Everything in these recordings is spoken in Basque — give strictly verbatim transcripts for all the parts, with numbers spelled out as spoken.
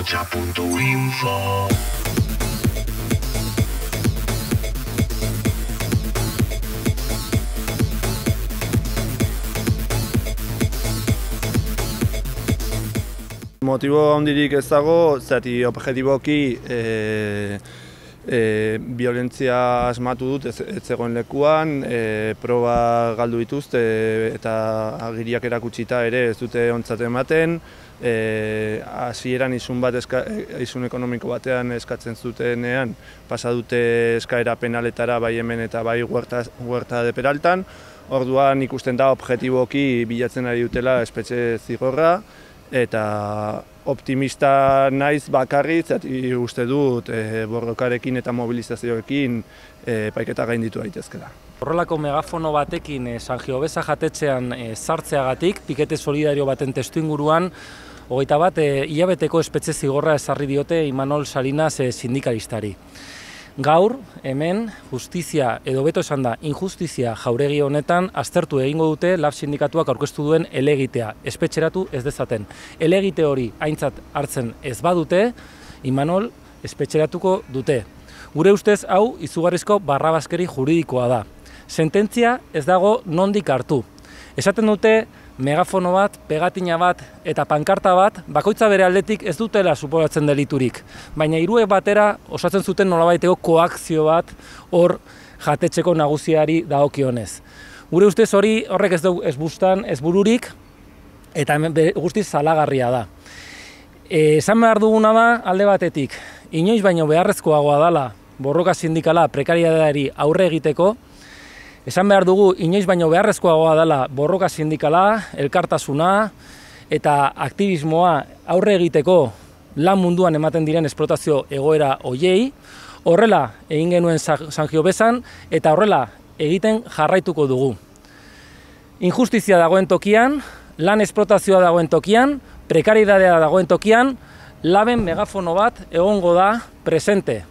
Arrocha punto info. Motibo handirik ez dago, zati objektiboki e, e, violentzia asmatu dut ez, ez zegoen lekuan, e, proba galdu dituzte eta agiriak erakutsita ere ez dute ontzat ematen. Hasieran e, isun bat eska, isun ekonomiko batean eskatzen zutenean pasa dute eskaera penaletara bai hemen eta bai Huerta, Huerta de Peraltan. Orduan ikusten da objektiboki bilatzen ari dutela espetxe zigorra. Eta optimista naiz bakarrik, zati uste dut e, borrokarekin eta mobilizazioekin e, epaiketa gainditu daitezkeela. Horrelako megafono batekin e, San Giovesa jatetxean e, sartzeagatik, pikete solidario baten testuinguruan, hogeita bat e, hilabeteko espetxe zigorra ezarri diote Imanol Salinas e, sindikalistari. Gaur, hemen, justizia, edo beto esan da, injustizia jauregi honetan aztertu egingo dute Lab sindikatuak aurkeztu duen helegitea, espetxeratu ez dezaten. Helegite hori aintzat hartzen ez badute, Imanol espetxeratuko dute. Gure ustez hau izugarrizko barrabaskeri juridikoa da. Sententzia ez dago nondik hartu. Esaten dute megafono bat, pegatina bat eta pankarta bat bakoitza bere aldetik ez dutela suposatzen deliturik. Baina hiruek batera osatzen zuten nolabaiteko koakzio bat hor jatetxeko nagusiari dagokionez. Gure ustez hori horrek ez dugu ez bustan, ez bururik eta guztiz salagarria da. E, esan behar duguna da alde batetik, inoiz baino beharrezkoagoa dela borroka sindikala prekarietateari aurre egiteko. Esan behar dugu, inoiz baino beharrezkoagoa dela borroka sindikala, elkartasuna eta aktivismoa aurre egiteko lan munduan ematen diren esplotazio egoera hoiei. Horrela egin genuen San Giovesan eta horrela egiten jarraituko dugu. Injustizia dagoen tokian, lan esplotazioa dagoen tokian, prekarietatea dagoen tokian, Laben megafono bat egongo da presente.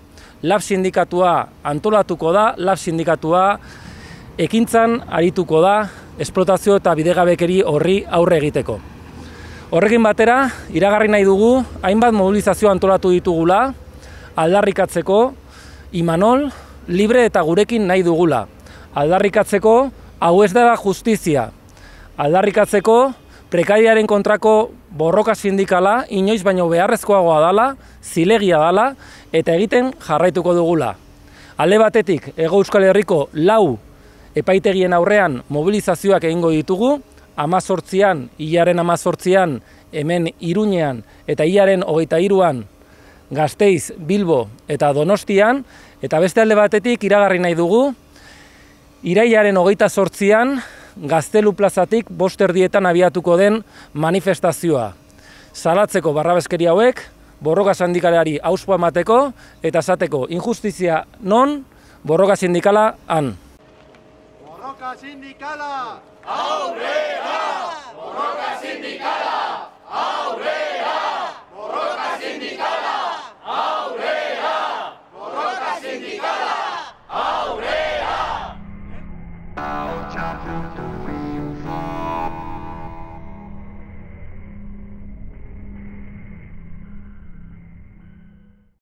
Lab sindikatua antolatuko da, Lab sindikatua ekintzan arituko da esplotazio eta bidegabekeri horri aurre egiteko. Horrekin batera, iragarri nahi dugu, hainbat mobilizazio antolatu ditugula, aldarrikatzeko Imanol libre eta gurekin nahi dugula. Aldarrikatzeko hau ez dela justizia. Aldarrikatzeko prekariaren kontrako borroka sindikala inoiz baino beharrezkoagoa dela, zilegia dela eta egiten jarraituko dugula. Alde batetik, Hego Euskal Herriko lau epaitegien aurrean mobilizazioak egingo ditugu, hamazortzian, hilaren hamazortzian, hemen Iruñean eta hilaren hogeita hiruan Gasteiz, Bilbo eta Donostian, eta beste alde batetik iragarri nahi dugu, irailaren hogeita zortzian Gaztelu plazatik bost erdietan abiatuko den manifestazioa. Salatzeko barrabeskeri hauek, borroka sindikalari hauspoa emateko eta esateko injustizia non, borroka sindikala han. Borroka sindikala! Aurrera! Borroka sindikala! Aurrera!